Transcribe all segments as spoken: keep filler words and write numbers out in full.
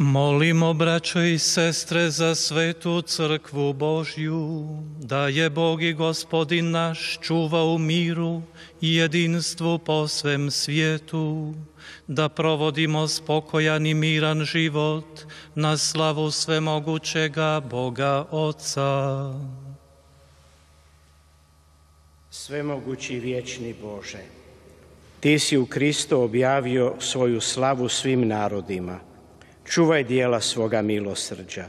Molimo, braćo i sestre, za svetu crkvu Božju, da je Bog i Gospodin naš čuva u miru i jedinstvu po svem svijetu, da provodimo spokojan i miran život na slavu svemogućega Boga Oca. Svemogući vječni Bože, Ti si u Kristu objavio svoju slavu svim narodima. Čuvaj dijela svoga milosrđa,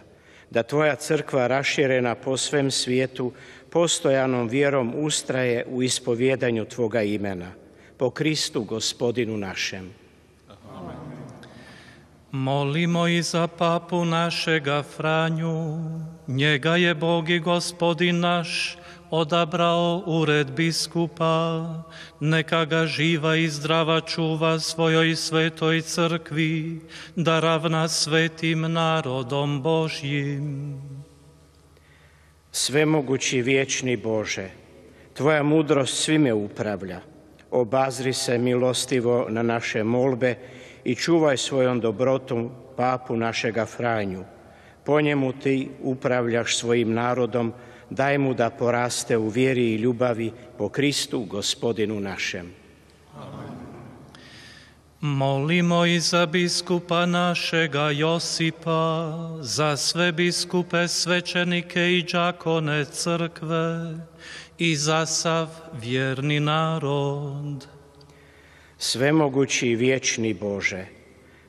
da Tvoja crkva raširena po svem svijetu postojanom vjerom ustraje u ispovjedanju Tvoga imena, po Kristu Gospodinu našem. Amen. Molimo i za papu našega Franju, njega je Bog i Gospodin naš odabrao ured biskupa, neka ga živa i zdrava čuva svojoj svetoj crkvi, da ravna svetim narodom Božjim. Svemogući vječni Bože, Tvoja mudrost svime upravlja. Obazri se milostivo na naše molbe i čuvaj svojom dobrotom papu našega Franju. Po njemu Ti upravljaš svojim narodom, daj mu da poraste u vjeri i ljubavi po Kristu Gospodinu našem. Amen. Molimo i za biskupa našega Josipa, za sve biskupe, svećenike i đakone crkve i za sav vjerni narod. Svemogući i vječni Bože,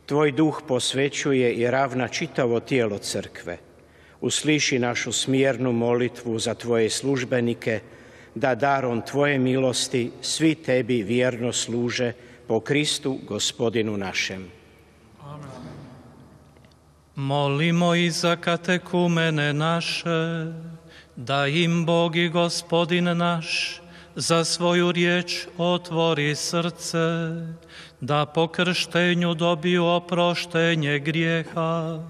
Tvoj duh posvećuje i ravna čitavo tijelo crkve. Usliši našu smjernu molitvu za Tvoje službenike, da darom Tvoje milosti svi Tebi vjerno služe po Kristu Gospodinu našem. Amen. Molimo i za katekumene naše, da im Bog i Gospodin naš za svoju riječ otvori srce, da po krštenju dobiju oproštenje grijeha,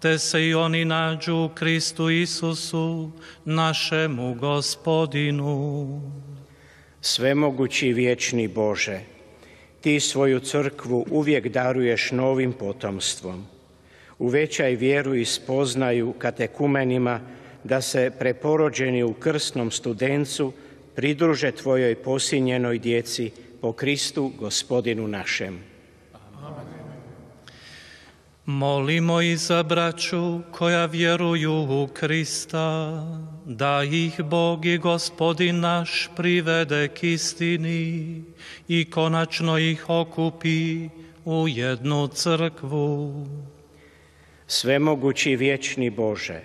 te se i oni nađu u Kristu Isusu, našemu Gospodinu. Svemogući vječni Bože, Ti svoju crkvu uvijek daruješ novim potomstvom. Uvećaj vjeru i spoznaju katekumenima da se preporođeni u krsnom studencu pridruže Tvojoj posinjenoj djeci po Kristu Gospodinu našem. Amen. Molimo i za braću koja vjeruju u Krista, da ih Bog i Gospodin naš privede k istini i konačno ih okupi u jednu crkvu. Svemogući vječni Bože,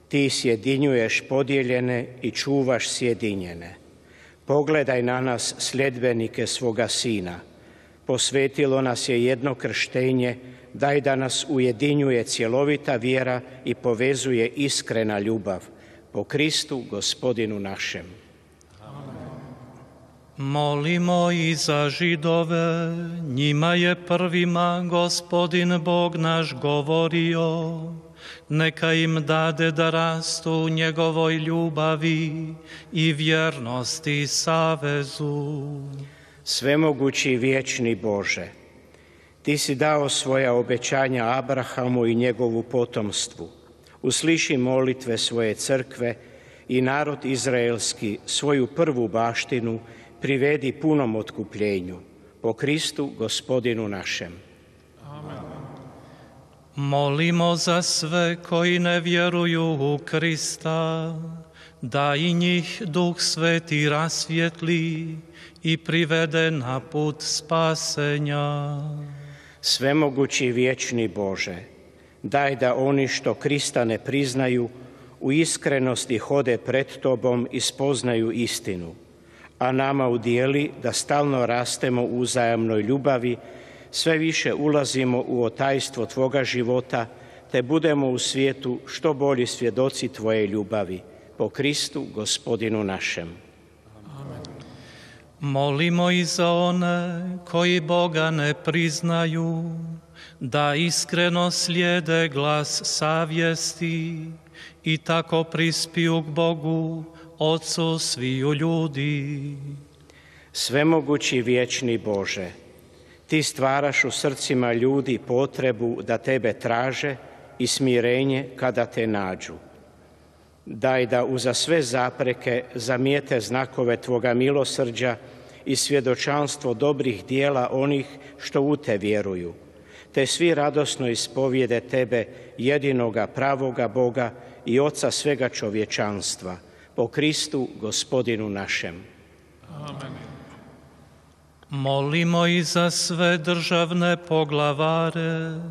Ti sjedinjuješ podijeljene i čuvaš sjedinjene. Pogledaj na nas sljedbenike svoga Sina. Posvetilo nas je jedno krštenje, daj da nas ujedinjuje cjelovita vjera i povezuje iskrena ljubav. Po Kristu Gospodinu našem. Amen. Molimo i za Židove, njima je prvima Gospodin Bog naš govorio, neka im dade da rastu u njegovoj ljubavi i vjernosti savezu. Svemogući vječni Bože, Ti si dao svoja obećanja Abrahamu i njegovu potomstvu. Usliši molitve svoje crkve i narod izraelski svoju prvu baštinu privedi punom otkupljenju. Po Kristu Gospodinu našem. Amen. Molimo za sve koji ne vjeruju u Krista, da i njih Duh Sveti rasvijetli i privede na put spasenja. Svemogući vječni Bože, daj da oni što Krista ne priznaju u iskrenosti hode pred Tobom i spoznaju istinu, a nama udijeli da stalno rastemo u uzajamnoj ljubavi, sve više ulazimo u otajstvo Tvoga života, te budemo u svijetu što bolji svjedoci Tvoje ljubavi. Po Kristu Gospodinu našem. Amen. Molimo i za one koji Boga ne priznaju, da iskreno slijede glas savjesti i tako prispiju k Bogu, Otcu sviju ljudi. Svemogući vječni Bože, Ti stvaraš u srcima ljudi potrebu da tebe traže i smirenje kada te nađu. Daj da uza sve zapreke zamijete znakove Tvoga milosrđa i svjedočanstvo dobrih dijela onih što u Te vjeruju, te svi radosno ispovijede Tebe, jedinoga pravoga Boga i Oca svega čovječanstva, po Kristu Gospodinu našem. Amen. Molimo i za sve državne poglavare,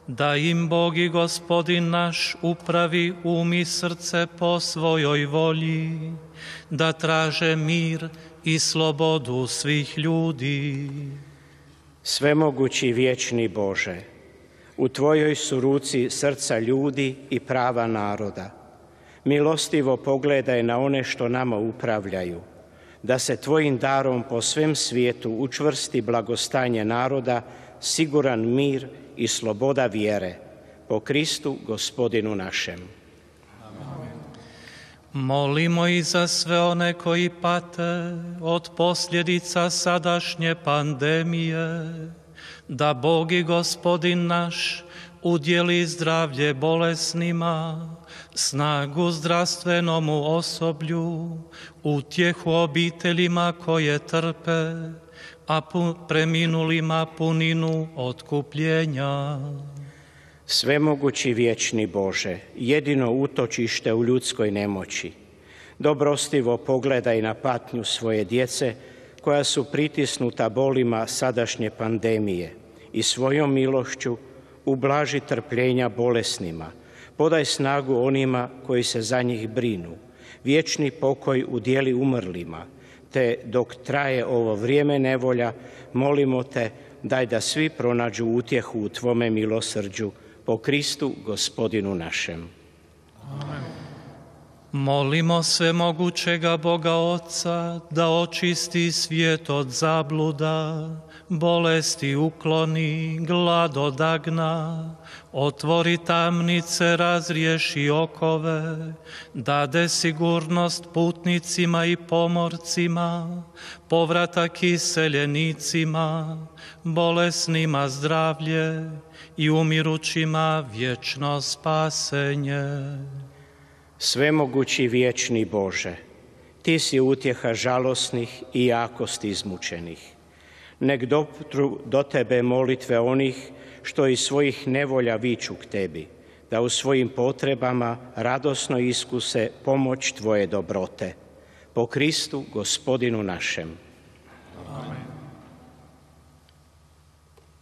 da im Bog i Gospodin naš upravi um i srce po svojoj volji, da traže mir i slobodu svih ljudi. Svemogući vječni Bože, u Tvojoj su ruci srca ljudi i prava naroda. Milostivo pogledaj na one što nama upravljaju, da se Tvojim darom po svem svijetu učvrsti blagostanje naroda, siguran mir i sloboda vjere, po Kristu Gospodinu našem. Amen. Molimo i za sve one koji pate od posljedica sadašnje pandemije, da Bog i Gospodin naš udjeli zdravlje bolesnima, snagu zdravstvenomu osoblju, utjehu obiteljima koje trpe, a preminulima puninu otkupljenja. Svemogući vječni Bože, jedino utočište u ljudskoj nemoći, dobrostivo pogledaj na patnju svoje djece koja su pritisnuta bolima sadašnje pandemije i svojom milošću ublaži trpljenja bolesnima, podaj snagu onima koji se za njih brinu, vječni pokoj udjeli umrlima, te dok traje ovo vrijeme nevolja, molimo Te, daj da svi pronađu utjehu u Tvome milosrđu, po Kristu Gospodinu našem. Amen. Molimo svemogućega Boga Oca da očisti svijet od zabluda, bolesti ukloni, glad odagna, otvori tamnice, razriješi okove, dade sigurnost putnicima i pomorcima, povratak iseljenicima, bolesnima zdravlje i umirućima vječno spasenje. Svemogući vječni Bože, Ti si utjeha žalosnih i jakosti izmučenih. Nek dopru do Tebe molitve onih što iz svojih nevolja viču k Tebi, da u svojim potrebama radosno iskuse pomoć Tvoje dobrote. Po Kristu Gospodinu našem.